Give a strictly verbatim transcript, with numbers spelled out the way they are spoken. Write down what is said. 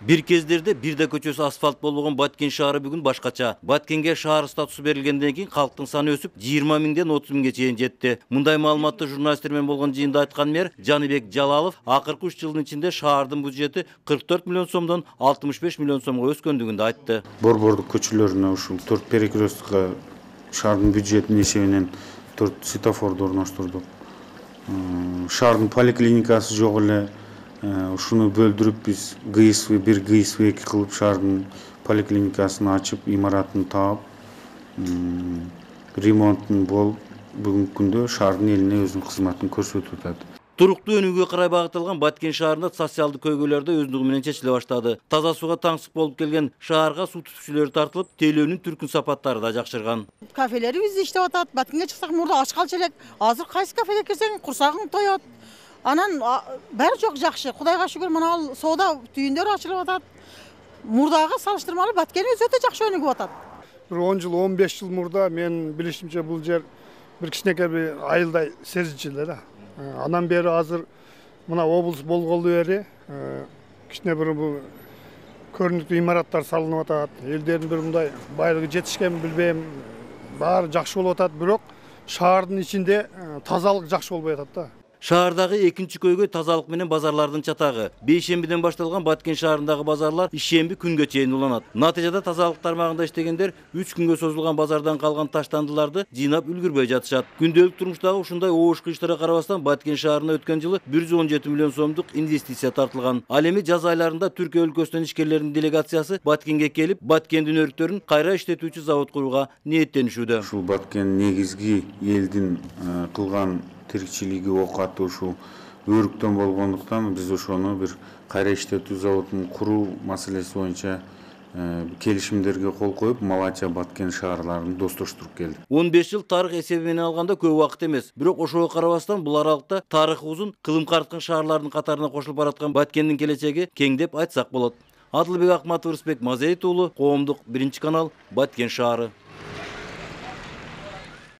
Бир кездерде бирде көчөсү асфальт болбогон Баткен шаары бүгүн башкача. Баткенге шаар статусу берилгенден кийин калктын саны өсүп, жыйырма миңден отуз миңге чейин жетти. Мындай маалыматты журналисттер менен болгон жыйында айткан мэр Жаныбек Жалалов акыркы үч жылдын ичинде шаардын бюджети кырк төрт миллион сомдон алтымыш беш миллион сомго өскөндүгүн да айтты. Борбордук көчөлөрүнө ушул төрт перекресткка шаардын бюджетинин эсебинен төрт светофорду орноштурдук. Шаардын поликлиникасы жок эле. Ушуну бөлдүрүп биз ГСВ бир ГСВ эки кылып шаардын поликлиникасын ачып, имаратын таап, ремонтун болуп, бүгүнкү күндө шаардын элине өзүнүн кызматын көрсөтүп атат. Туруктуу өнүгүүгө карай багытталган Баткен шаарында социалдык көйгөйлөр да өздүгү менен чечиле баштады. Таза сууга таңсык болуп келген шаарга суу түтүкчүлөрү тартылып, тейлөөнүн түркүн сапаттары да жакшырган. Кафелерибиз иштеп атат. Баткенге чыксак мурда ач калчу элек. Азыр кайсы кафеге кирсең курсагың тоет. Анан баары жок жакшы. Кудайга шүгүр, мына ал соода түйүндөр ачылып атат. Мурдага салыштырмалуу Баткенибиз өтө жакшы өнүгүп атат. Бир он жыл, он беш жыл мурда мен билишимче бул жер бир кичинекей бир айылдай сезилчү эле да. Андан бери азыр мына облус болгону бери кичине бир бул көрүнүктүү имараттар салынып атат. Элдердин бир мындай байлыгы жетишкенин билбейм. Баары жакшы болуп атат, бирок шаардын ичинде тазалык жакшы болбой атат да. Шаардагы экинчи көйгөй тазалык менен базарлардын чатагы. Бейшембиден башталган Баткен шаарындагы базарлар ишемби күнгө чейин уланат. Натыйжада тазалык тармагында иштегендер үч күнгө созулган базардан калган таштандыларды жыйнап үлгүрбөй жатышат. Күндөлүк турмуштагы ушундай оошку иштерге карабастан Баткен шаарына өткөн жылы бир жүз он жети миллион сомдук инвестиция тартылган. Ал эми жаз айларында Түркия өлкөсүнөн ишкерлердин делегациясы Баткенге келип, Баткендин өрүктөрүн кайра иштетүүчү завод курууга ниеттенишүүдө. Ушул Баткен негизги элдин кылган тиричилиги оокаты ушул өрүктөн болгондуктан биз ошону бир кайра иштетүү заводун куруу маселеси боюнча келишимдерге кол коюп, Малача, Баткен шаарларын достоштуруп келдик. он беш жыл тарых эсеби менен алганда көп убакыт эмес. Бирок ошого карабастан бул аралыкта тарыхы узун, кылым карткан шаарлардын катарына кошулуп бараткан Баткендин келечеги кең деп айтсак болот. Адылбек Акматов, Рысбек Мазеит уулу, Коомдук биринчи канал, Баткен шаары.